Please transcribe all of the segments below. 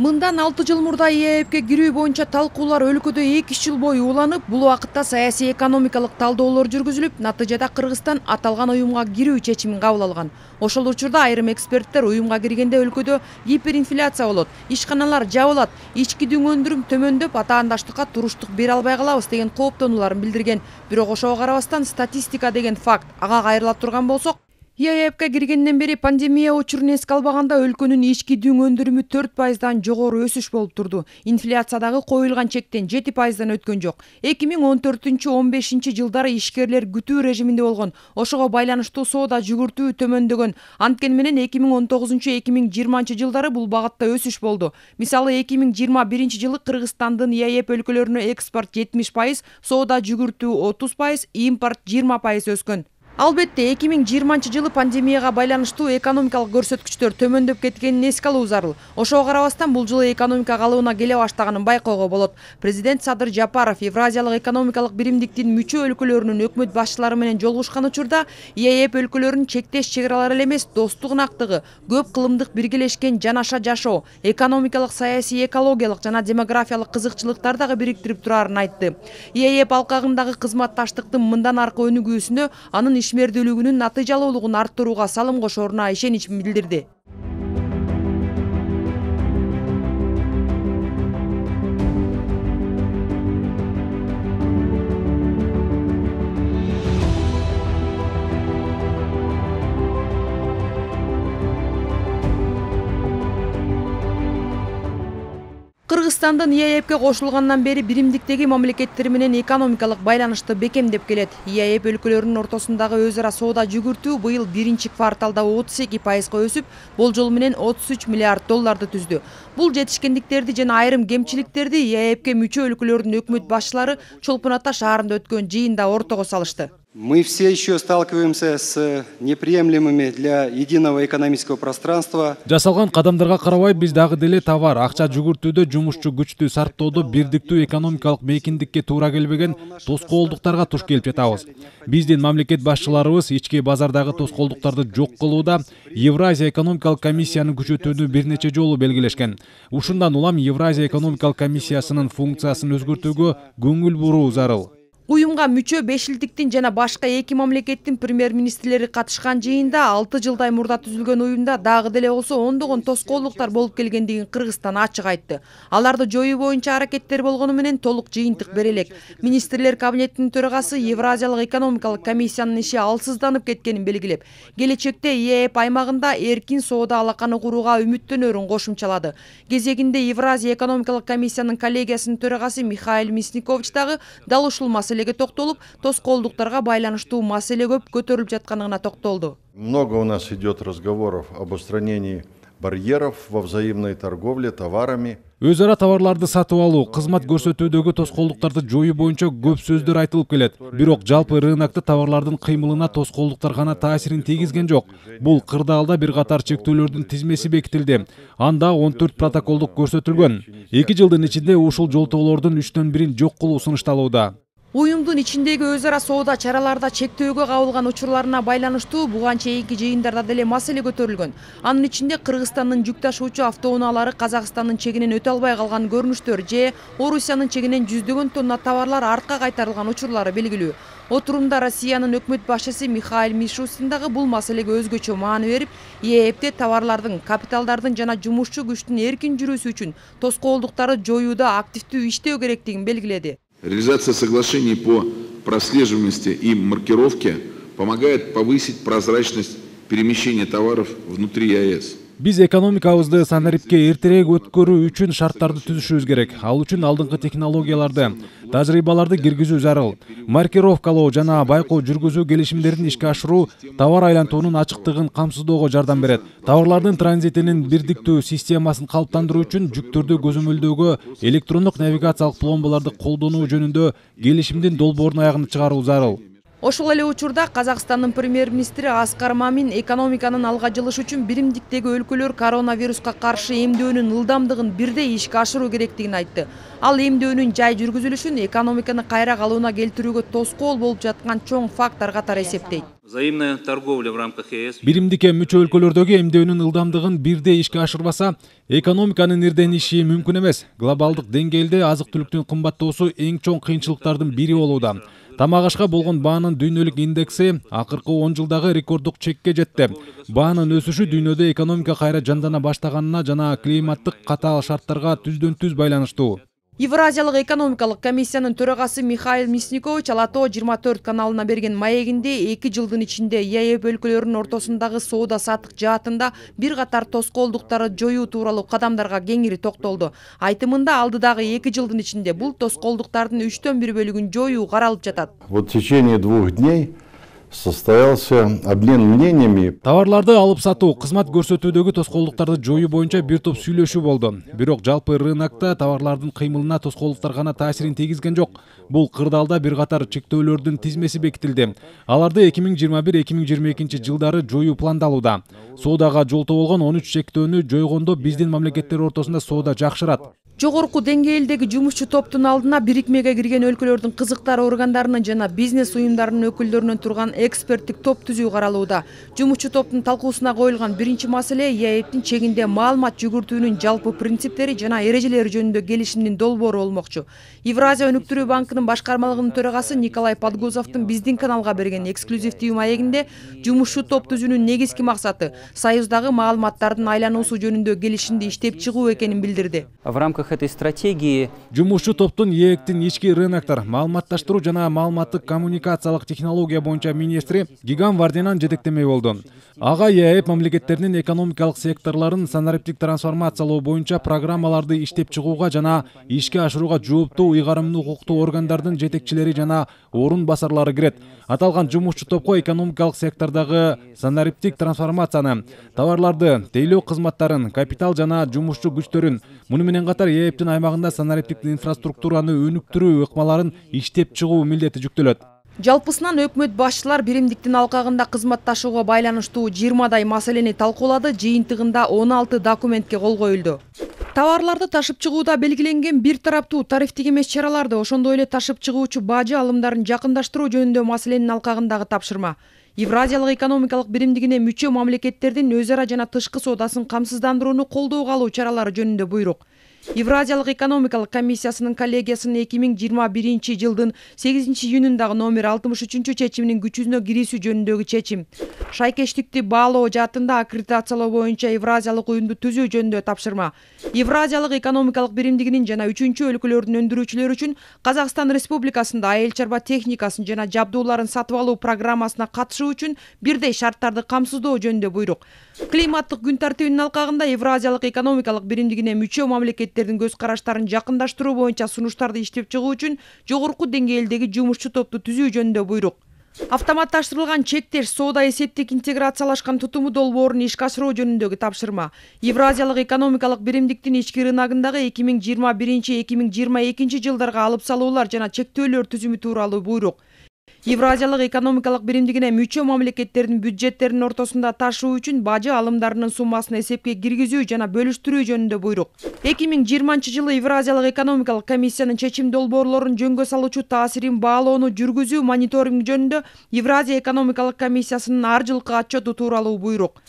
Мындан 6 жыл мурда ЕЭПке кирүү боюнча талкуулар өлкөдө 2 жыл бою уланып, бул убакытта саясий экономикалык талдоолор жүргүзүлүп, натыйжада Кыргызстан аталган уюмга кирүү чечимин кабыл алган. Ошол учурда айрым эксперттер уюмга киргенде өлкөдө гиперинфляция болот, ишканалар жабылат, ички дүң өндүрүм төмөндөп, атаандаштыкка туруштук бере албай калабыз деген кооптонууларын билдирген. Бирок ошого карабастан статистика деген факт ага кайрыла турган болсок, ЕЭПке киргенден бери пандемия учурун эске албаганда өлкөнүн ички дүң өндүрүмү 4%дан жогору өсүш болуп турду. Инфляция дагы коюлган чектен 7%дан өткөн жок. 2014-15 жылдары ишкерлер күтүү режиминде болгон. Ошого байланыштуу соода жүгүртүү төмөндөгөн. Анткени менен 2019-2020 жылдары бул багытта өсүш болду. Мисалы 2021 жылы Кыргызстандын ЕЭП өлкөлөрүнө экспорт 70%, соода жүгүртүү 30%, импорт 20% өскөн. Албетте 2020 жылы пандемияга байланыштуу экономикалык көрсөткүчтөр төмөндөп кеткенин эске алуу зарыл. Ошого карабастан бул жылы экономика калыбына келе баштаганын байкоого болот. Президент Садыр Жапаров Евразиялык экономикалык биримдиктин мүчө өлкөлөрүнүн өкмөт башчылары менен жолугушкан учурда ЕЭП өлкөлөрүнүн чектеш чек аралары эле эмес, достук ынактыгы, көп кылымдык биргелешкен жанаша жашоо, экономикалык, саясий, экологиялык жана демографиялык кызыкчылыктар дагы бириктирип турарын айтты. ЕЭП алкагындагы кызматташтыктын мындан аркы өнүгүүсүнө, анын ишмердүүлүгүнүн натыйжалуулугун арттырууга салым кошоруна ишенич билдирди. Кыргызстандын ЕЭПке кошулгандан бери биримдиктеги мамлекеттер менен экономикалык байланышты бекемдеп келет. ЕЭП өлкөлөрүнүн ортосундагы өз ара соода жүгүртүү быйыл биринчи кварталда 32%га өсүп, болжол менен 33 миллиард долларды түздү. Бул жетишкендиктерди жана айрым кемчиликтерди ЕЭПке мүчө өлкөлөрдүн өкмөт башчылары Чолпон Ата шаарында өткөн жыйында ортого салышты. Мы все еще сталкиваемся с неприемлемыми для единого экономического пространства. Жасалган кадамдарга карабай биз дагы деле товар, акча жүгүртүүдө, жумушчу күчтү сарптоодо бирдиктүү экономикалык мейкиндикке туура келбеген тоскоолдуктарга туш келип жатабыз. Биздин мамлекет башчыларыбыз ички базардагы тоскоолдуктарды жок кылууда Евразия экономикалык комиссияны күчөтүүнү бир нече жолу белгилешкен. Ушундан улам Евразия экономикалык комиссиясынын функциясын өзгөртүүгө көңүл буруу зарыл. Уюмга мүчө 5 элдиктин жана башка 2 мамлекеттин премьер-министрлери катышкан жыйында 6 жылдай мурда түзүлгөн уюмда дагы деле болсо ондогон тоскоолдуктар болуп келгендигин Кыргызстан ачык айтты. Аларды жоюу боюнча аракеттер болгону менен толук жыйынтык бере элек. Министрлер кабинетинин төрагасы Евразиялык экономикалык комиссиянын иши алсызданып кеткенин белгилеп, келечекте ЕЭП аймагында эркин соода алаканы курууга үмүттөнөрүн кошумчалады. Кезегинде Евразия экономикалык комиссиянын коллегиясынын төрагасы Михаил Мясникович дагы дал ушул токтолуп, тоскоолдуктарга байланыштуу маселе көп көтөрүлүп жатканына токтолду. Много у нас идет разговоров об устранении барьеров во взаимной торговле товарами. Өз ара товарларды сатып алуу, кызмат көрсөтүүдөгү тоскоолдуктарды жоюу боюнча көп сөздөр айтылып келет. Бирок жалпы рынокто товарлардын кыймылына тоскоолдуктар гана таасирин тийгизген жок. Бул кырдаалда бир катар чектөөлөрдүн тизмеси бекитилди. Анда 14 протоколдук көрсөтүлгөн. 2 жылдын ичинде ушул жолтоолордун 3төн бирин жок кылуу сунушталууда. Уюмдун ичиндеги өз ара соода чараларда чектөөгө кабылган учурларына байланыштуу буга чейинки жыйындарда деле маселе көтөрүлгөн. Анын ичинде Кыргызстандын жүк ташуучу автоунаалары Казакстандын чегинен өтө албай калган көрүнүштөр же Орусиянын чегинен жүздөгөн тонна товарлар артка кайтарылган учурлары белгилүү. Отурумда Россиянын өкмөт башчысы Михаил Мишустин дагы бул маселеге өзгөчө маани берип, ЕЭПте товарлардын, капиталдардын жана жумушчу күчтүн эркин жүрүүсү үчүн тоскоолдуктарды жоюуда активдүү иштөө керектигин белгиледи. Реализация соглашений по прослеживаемости и маркировке помогает повысить прозрачность перемещения товаров внутри ЕАЭС. Биз экономикабызды санарипке эртерээк өткөрүү үчүн шарттарды түзүшүбүз керек. Ал үчүн алдыңкы технологияларды, тажрыйбаларды киргизүү зарыл. Маркировкалоо жана байкоо жүргүзүү келишимдерин ишке ашыруу товар айлантуунун ачыктыгын камсыздоого жардам берет. Товарлардын транзитинин бирдиктүү системасын калыптандыруу үчүн жүктөрдү көзөмөлдөөгө электрондук навигациялык пломбаларды колдонуу жөнүндө келишимдин долбоорун аягына чыгаруу зарыл. Ошол эле учурда Казакстандын премьер-министри Аскар Мамин экономиканын алга жылышы үчүн биримдиктеги өлкөлөр коронавируска каршы эмдөөнүн ылдамдыгын бирдей ишке ашыруу керектигин айтты. Ал эмдөөнүн жай жүргүзүлүшүн экономиканы кайра калыбына келтирүүгө тоскоол болуп жаткан чоң фактор катары эсептейт. Взаимная торговля в рамках ЕС. Биримдикке мүчө өлкөлөрдөгү эмдөөнүн ылдамдыгын бирдей ишке ашырбаса, экономиканын ирдениши мүмкүн эмес. Глобалдык деңгээлде азык-түлүктүн кымбаттоосу эң чоң кыйынчылыктардын бири болууда. Тамак ашка болгон баанын дүйнөлүк индекси акыркы 10 жылдагы рекорддук чекке жетти. Баанын өсүшү дүйнөдө экономика кайра жандана баштаганына жана климаттык катаал шарттарга түздөн-түз байланыштуу. Евразиялык экономикалык комиссиянын төрагасы Михаил Мясникович Алато 24 каналына берген маегинде 2 жылдын ичинде ЕЭП өлкөлөрүнүн ортосундагы соода-саттык жаатында бир катар тоскоолдуктарды жоюу тууралуу кадамдарга кеңири токтолду. Айтымында алдыдагы 2 жылдын ичинде бул тоскоолдуктардын 1/3 бөлүгүн жоюу каралып жатат. Вот в течение 2 дней состоялся обмен мнениями. Товарларды алып сатуу, кызмат көрсөтүүдөгү тоскоолдуктарды жоюу боюнча бир топ сүйлөшүү болду. Бирок жалпы рынокто товарлардын кыймылына тоскоолдуктар гана таасирин тийгизген жок. Бул кырдаалда бир катар чектөөлөрдүн тизмеси бекитилди. Аларды 2021-2022 жылдары жоюу пландалууда. Соодага жолтоо болгон 13 чектөөнү жойгондо биздин мамлекеттер ортосунда соода жакшырат. Жогорку деңгээлдеги жумушчу топтун алдына бирикмеге кирген өлкөлөрдүн кызыктар органдарынын жана бизнес уюмдарынын өкүлдөрүнөн турган эксперттик топ түзүү каралууда. Жумушчу топтун талкуусуна коюлган биринчи маселе ЕЭПтин чегинде маалымат жүгүртүүнүн жалпы принциптери жана эрежелери жөнүндө келишимдин долбоору болмокчу. Евразия өнүктүрүү банкынын башкармалыгынын төрагасы Николай Подгузовдун биздин каналга берген эксклюзивдүү маегинде жумушчу топ түзүүнүн негизги максаты союздагы маалыматтардын айлануусу жөнүндө келишимди иштеп чыгуу экенин билдирди. В рамках этой стратегии Жумушчу топтун ЕЭПтин ички рыноктор, маалыматташтыруу жана маалыматтык коммуникациялык технология боюнча министри Гигам Вардинан жетектемей болду. Ага ЕЭП мамлекеттеринин экономикалык секторлорун санариптик трансформациялоо боюнча программаларды иштеп чыгууга жана ишке ашырууга жооптуу ыйгарымдуу укуктуу органдардын жетекчилери жана орун басарлары кирет. Аталган жумушчу топко экономикалык сектордогу санариптик трансформацияны, товарларды, тейлөө кызматтарын, капитал жана жумушчу күчтөрүн, муну менен катар ЕЭПтин аймагында санариптик инфраструктураны өнүктүрүү ыкмаларын иштеп чыгуу милдети жүктөлөт. Жалпысынан өкмөт башчылар биримдиктин алкагында кызматташууга байланыштуу 20 маселени талкуулады, жыйынтыгында 16 документке кол коюлду. Товарларды ташып чыгууда белгиленген бир тараптуу тарифтик эмес чараларды, ошондой эле ташып чыгуучу бажы алымдарын жакындаштыруу жөнүндө маселенин алкагындагы тапшырма. Евразиялык экономикалык биримдигине мүчө мамлекеттердин өз ара жана тышкы соодасын камсыздандырууну колдоого алуу чаралары жөнүндө буйрук. Евразиялык экономикалык комиссиясынын коллегиясынын 2021 жылдын 8-июнундагы номер 63 чечиминин күчүнө кирүүсү жөнүндөгү чечим. Шайкештикти баалоо жаатында аккредитациялоо боюнча Евразиялык уюмду түзүү жөнүндө тапшырма. Евразиялык экономикалык биримдигинин жана 3-өлкөлөрдүн өндүрүүчүлөрү үчүн Казакстан Республикасында айыл чарба техникасын жана жабдууларын сатып алуу программасына катышуу үчүн бирдей шарттарды камсыздоо жөнүндө буйрук. Климаттык күн тартибинин алкагында Евразиялык экономикалык биримдигине мүчө мамлекеттердин көз караштарын жакындаштыруу боюнча сунуштарды иштеп чыгуу үчүн жогорку деңгээлдеги жумушчу топту түзүү жөнүндө буйрук. Автоматташтырылган чектеш соода эсептик интеграциялашкан тутуму долбоорун ишке ашыруу жөнүндөгү тапшырма. Евразиялык экономикалык биримдиктин ички рыногундагы 2021-2022 жылдарга алып салуулар жана чектөөлөр түзүмү тууралуу буйрук. Евразиялык экономикалык биримдигине мүчө мамлекеттердин бюджеттеринин ортосунда ташуу үчүн бажы алымдарынын суммасын эсепке киргизүү жана бөлүштүрүү жөнүндө буйрук. 2020 жылы Евразиялык экономикалык комиссиянын чечим долбоорлорун жөнгө салуучу таасирин баалоону жүргүзүү мониторинг жөнүндө Евразия экономикалык комиссиясынын ар жылкы отчету тууралуу буйрук.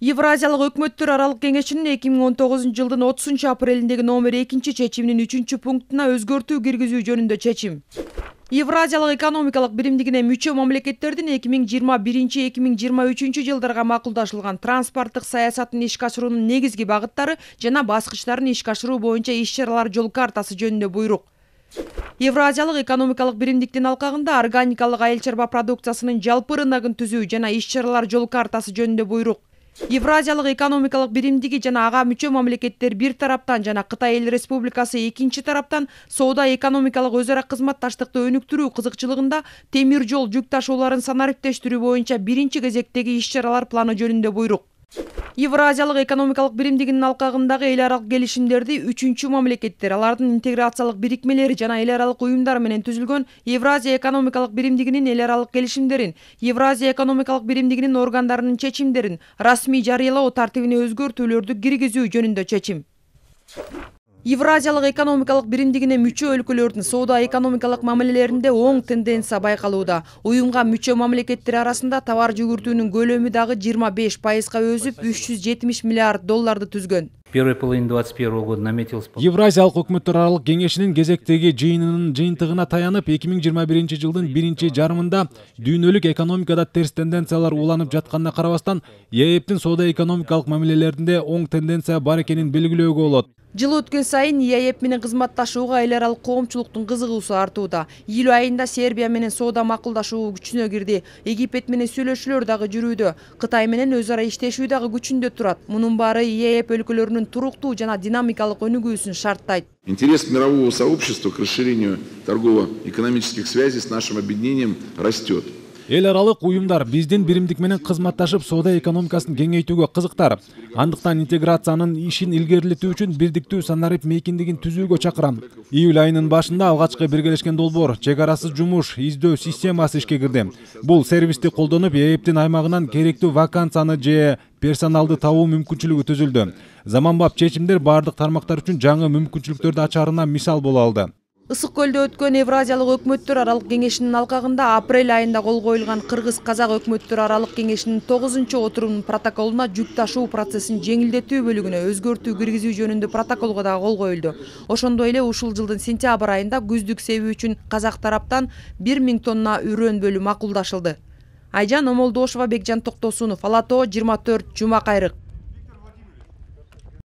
Евразиялык өкмөттөр аралык кеңешинин 2019 жылдын 30 апрелиндеги номер 2 чечиминин 3 пунктуна өзгөртүү киргизүү жөнүндө чечим. Евразиялык экономикалык биримдигине мүчө мамлекеттердин 2021-2023 жылдарга макулдашылган транспорттук саясатын ишке ашыруунун негизги багыттары жана баскычтарын ишке ашыруу боюнча иш-чаралар жол картасы жөнүндө буйрук. Евразиялык экономикалык биримдиктин алкагында органикалык айыл чарба продукциясынын жалпы рыногун түзүү жана иш-чаралар жол картасы жөнүндө буйрук. Евразиялык экономикалык биримдиги жана ага мүчө мамлекеттер бир тараптан жана Кытай Эл Республикасы экинчи тараптан соода экономикалык өз ара кызматташтыкты өнүктүрүү кызыкчылыгында темир жол жүк ташууларын санариптештирүү боюнча биринчи кезектеги иш-чаралар планы жөнүндө буйрук. Евразиялык экономикалык биримдигинин алкагындагы эл аралык келишимдерди 3-чү мамлекеттер, алардын интеграциялык бирикмелери жана эл аралык уюмдар менен түзүлгөн Евразия экономикалык биримдигинин эл аралык келишимдерин, Евразия экономикалык биримдигинин органдарынын чечимдерин расмий жарыялоо тартибине өзгөртүүлөрдү киргизүү жөнүндө чечим. Евразиялык экономикалык биримдигине мүчө өлкөлөрдүн соода-экономикалык мамилелеринде оң тенденция байкалууда. Уюмга мүчө мамлекеттер арасында товар жүгүртүүнүн көлөмү дагы 25%га өсүп, $370 миллиард түзгөн. Первой половине 2021 года наметилось... Евразиялык өкмөттөр аралык кеңешинин кезектеги жыйынынын жыйынтыгына таянып, 2021 жылдын биринчи жарымында дүйнөлүк экономикада терс тенденциялар уланып жатканына карабастан, ЕЭПтин соода-экономикалык мамилелеринде оң тенденция бар экенин белгилөөгө болот. Жыл өткөн сайын ЕЭП менен кызматташууга эл аралык коомчулуктун кызыгуусу артууда. Июль айында Сербия менен соода макулдашуу күчүнө кирди. Египет менен сүйлөшүүлөр дагы жүрүүдө. Кытай менен өз ара иштешүү дагы күчүндө турат. Мунун баары ЕЭП өлкөлөрүнүн туруктуу жана динамикалык өнүгүүсүн шарттайт. Интерес мирового сообщества к расширению торгово-экономических связей с нашим объединением растет. Эл аралык уюмдар биздин биримдик менен кызматташып соода экономикасын кеңейтүүгө кызыктар. Андыктан интеграциянын ишин илгерилетүү үчүн бирдиктүү санарип мейкиндигин түзүүгө чакырам. Июль айынын башында алгачкы биргелешкен долбоор чек арасыз жумуш издөө системасы ишке кирди. Бул сервисти колдонуп ЕЭПтин аймагынан керектүү вакансияны же персоналды табуу мүмкүнчүлүгү түзүлдү. Заманбап чечимдер бардык тармактар үчүн жаңы мүмкүнчүлүктөрдү ачарына мисал боло алды. Ысык көлдө өткөн Евразиялык өкмөттөр аралык кеңешинин алкагында апрель айында кол коюлган Кыргыз-Казак өкмөттөр аралык кеңешинин 9-чу отурумунун протоколуна жүк ташуу процессин жеңилдетүү бөлүгүнө өзгөртүү киргизүү жөнүндө протоколго дагы кол коюлду. Ошондой эле ушул жылдын сентябрь айында күздүк себи үчүн Казак тараптан 1000 тонна үрөн бөлүү макулдашылды. Айжан Омолдошова, Бекжан Токтосунов, Ала Тоо 24, Жума Кайрык.